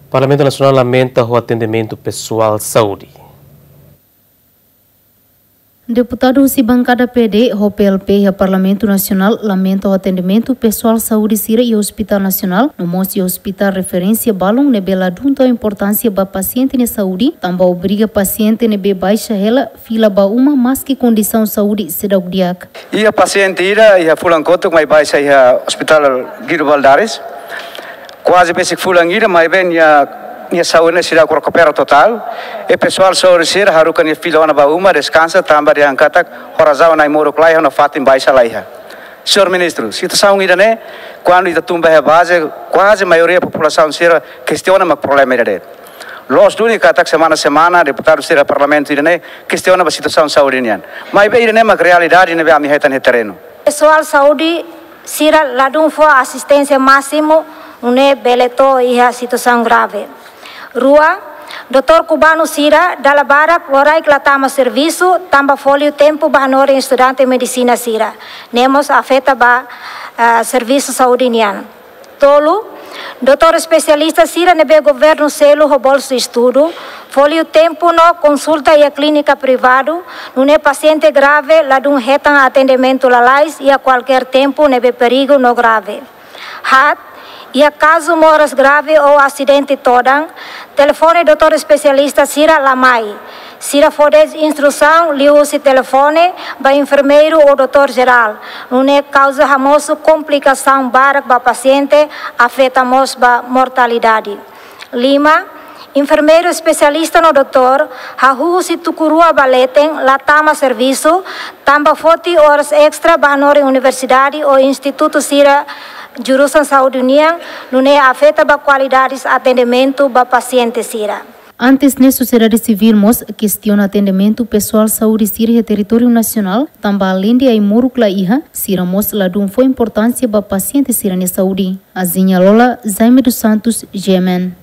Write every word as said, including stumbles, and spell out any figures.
Parlamentu Nasionál lamenta ho atendimentu pesoál saúde. Deputadu husi bankada P D ho P L P iha Parlamentu Nasionál lamenta ho atendimentu pesoál saúde sira iha Hospitál Nasionál, no mós iha hospitál referénsia balun ne'ebé ladún tau importánsia ba pasiente nia saúde, tanba obriga pasiente ne'ebé baixa hela fila ba uma maski kondisaun saúde seidauk di'ak. Iha pasiente ida iha fulan kotuk mai baixa iha Hospitál Guido Valadares. Kuaze besik fulan ida, maibé nia, nia saúde ne'e seidauk rekupera totál. I pesoál saúde sira haruka nia fila ona ba uma deskansa tanba dehan katak ho razaun ai-moruk laiha no fatin baixa laiha. Señór Ministru, situasaun ida-ne'e, kuandu ita tun ba iha baze, kuaze maioria populasaun sira kestiona mak problema ida de'it. Loos duni katak semana-semana deputadu sira Parlamentu ida-ne'e kestiona ba situasaun saúde nian. Maibé ida-ne'e mak realidade ne'ebé ami hetan iha terrenu. Pesoál saúde sira ladún fó asisténsia másimu, nune'e bele to'o iha situasaun grave. Rua, doutór kubanu sira dala barak loraik la tama servisu, tanba fóliu tempu ba hanorin estudante medisina sira. Ne'e mós afeta ba, ah, servisu saúde nian. Tolu, doutór espesialista sira ne'ebé governu selu ho bolsa estudu, fóliu tempu no konsulta iha klínika privadu, nune'e pasiente grave ladún hetan atendimentu lalais iha kualkér tempu ne'ebé perigu no grave. Haat, iha kazu moras grave ou asidente todan, telefone doutór espesialista sira la mai. Sira fó de'it instrusaun liuhusi telefone ba enfermeiru ou doutór jerál, nune'e kauza hamosu komplikasaun barak ba pasiente, afeta mós ba mortalidade. Lima, enfermeiru espesialista no doutór hahú husi tuku rua ba leten la tama servisu, tanba foti oras estra ba hanorin universidade ou institutu sira jurusan saúde nian, nune'e afeta ba kualidade atendimentu ba pasiente sira. Antes ne'e sosiedade sivíl mós kestiona atendimentu pesoál saúde sira iha territóriu nasionál, tanba aleinde ai-moruk la iha, sira mós ladún fó importánsia ba pasiente sira-nia saúde. Azinha Lola, Jaime dos Santos, G M N.